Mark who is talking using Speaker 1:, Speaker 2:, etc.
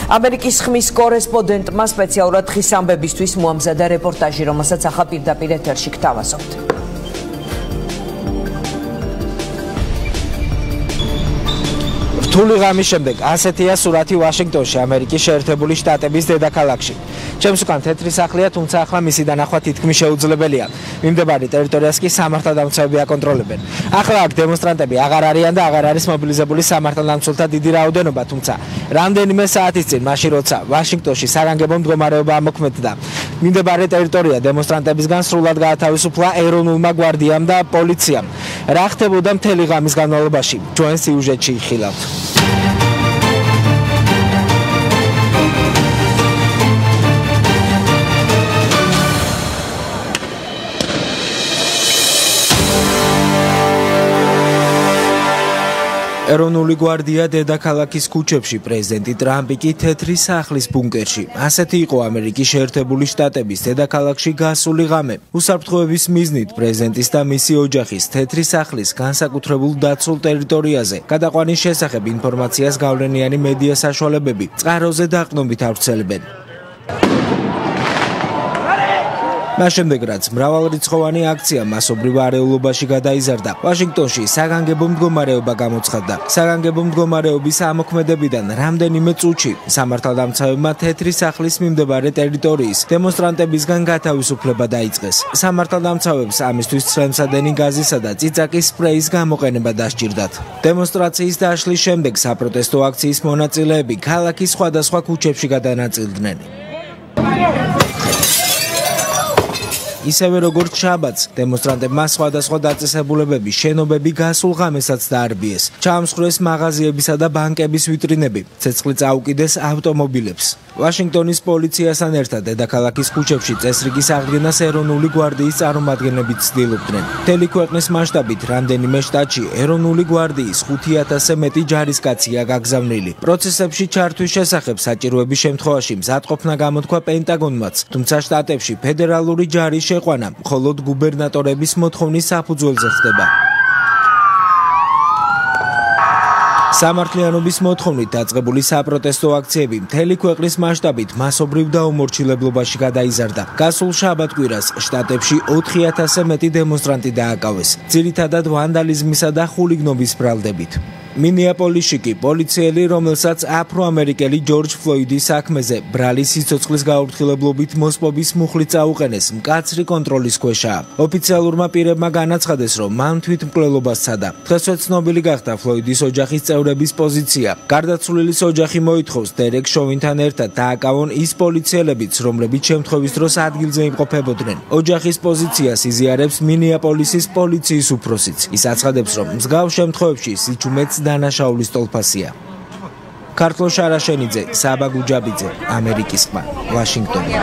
Speaker 1: ამერიკის ხმის კორესპონდენტმა სპეციალურად დღის ამბებისთვის მოამზადა რეპორტაჟი, რომელსაც ახლა პირდაპირ ეთერში გთავაზობთ.
Speaker 2: რთული ღამის შემდეგ ასეთია სურათი ვაშინგტონში, ამერიკის შეერთებული შტატების დედაქალაქში. ჩემს უკან თეთრი სახლია, თუმცა ახლა მისი დანახვა თითქმის შეუძლებელია. მიმდებარე ტერიტორიას კი სამართალდამცავები აკონტროლებენ. ახლა აქ დემონსტრანტები აღარ არიან და აღარ არის მობილიზებული სამართალდამცველთა დიდი რაოდენობა, თუმცა რამდენიმე საათის წინ, მაშინ როცა ვაშინგტონში საგანგებო მდგომარეობა ამოქმედდა, მიმდებარე ტერიტორია დემონსტრანტებისგან სრულად გაათავისუფლა ეროვნულმა გვარდიამ და პოლიციამ. რა ხდებოდა მთელი ღამის განმავლობაში? ჩვენ სიუჟეტში იხილავთ. ეროვნული გვარდია დედაქალაქის ქუჩებში, პრეზიდენტი ტრამპი კი თეთრი სახლის ბუნკერში. ასეთი იყო ამერიკის შეერთებული შტატების დედაქალაქში გასული ღამე. უსაფრთხოების მიზნით პრეზიდენტის და მისი ოჯახის თეთრი სახლის განსაკუთრებულ დაცულ ტერიტორიაზე გადაყვანის შესახებ ინფორმაციას გავლენიანი მედია საშუალებები წყაროზე დაყრდნობით ავრცელებენ. მას შემდეგ რაც მრავალრიცხოვანი აქცია მასობრივ არეულობაში გადაიზარდა, ვაშინგტონში საგანგებო მდგომარეობა გამოცხადდა. საგანგებო მდგომარეობის ამოქმედებიდან რამდენიმე წუთში სამართალდამცავებმა თეთრი სახლის მიმდებარე ტერიტორიის დემონსტრანტებისგან გათავისუფლება დაიწყეს. სამართალდამცავებს ამისთვის ცხენსადენი გაზისა და წიწაკის სპრეის გამოყენება დასჭირდათ. დემონსტრაციის დაშლის შემდეგ საპროტესტო აქციის მონაწილეები ქალაქის სხვადასხვა ქუჩებში გადანაწილდნენ. ისევე როგორც შაბათს, დემონსტრანტებმა სხვადასხვა დაწესებულებები, შენობები გასულ ღამესაც დაარბიეს. ჩაამსხვრეს მაღაზიებისა და ბანკების ვიტრინები, ცეცხლი წაუკიდეს ავტომობილებს. ვაშინგტონის პოლიციასთან ერთად დედაქალაქის ქუჩებში წესრიგის აღდგენას ეროვნული გვარდიის წარმომადგენლები ცდილობდნენ. მთელი ქვეყნის მასშტაბით რამდენიმე შტატში ეროვნული გვარდიის 5000-ზე მეტი ჯარისკაცია გაგზავნილი. პროცესებში ჩართვის შესახებ საჭიროების შემთხვევაში მზადყოფნა გამოთქვა პენტაგონმაც, თუმცა შტატებში ფედერალური ჯარის შეყვანა მხოლოდ გუბერნატორების მოთხოვნის საფუძველზე ხდება. სამართლიანობის მოთხოვნით დაწყებული საპროტესტო აქციები მთელი ქვეყნის მასშტაბით მასობრივ დაუმორჩილებლობაში გადაიზარდა. გასულ შაბათ-კვირას შტატებში 4000-ზე მეტი დემონსტრანტი დააკავეს, ძირითადად ვანდალიზმისა და ხულიგნობის ბრალდებით. მინეაპოლისში კი პოლიციელი, რომელსაც აფრო-ამერიკელი ჯორჯ ფლოიდის საქმეზე ბრალის სიცოცხლის გაურთხილებლობით მოსპობის მუხლი წაუყენეს, მკაცრი კონტროლის ქვეშაა. ოფიციალურმა პირებმა განაცხადეს, რომ მან თვითმკვლელობა სცადა. დღესვე ცნობილი გახდა ფლოიდის ოჯახის წევრების პოზიცია. გარდაცვლილის ოჯახი მოითხოვს დერეკ შოვინთან ერთად დააკავონ ის პოლიციელებიც, რომლებიც შემთხვევის დროს ადგილზე იმყოფებოდნენ. ოჯახის პოზიციას იზიარებს მინეაპოლისის პოლიციის უფროსიც. ის აცხადებს, რომ მსგავს შემთხვევებში სიჩუმეც დანაშაულის ტოლფასია. ქართლო შარაშენიძე, საბა გუჯაბიძე, ამერიკის ხმა, ვაშინგტონი.